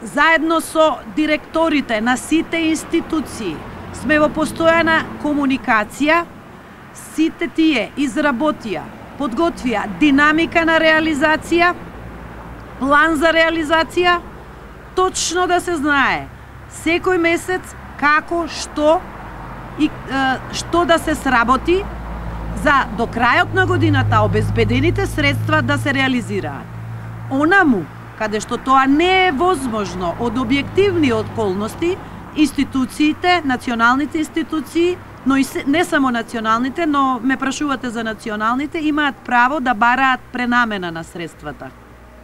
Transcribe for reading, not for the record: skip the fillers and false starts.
заедно со директорите на сите институции сме во постојана комуникација. Сите тие изработија, подготвија динамика на реализација, план за реализација, точно да се знае секој месец како, што и што да се сработи за до крајот на годината обезбедените средства да се реализираат. Онаму каде што тоа не е возможно од објективни околности, институциите, националните институции, но и не само националните, но ме прашувате за националните, имаат право да бараат пренамена на средствата.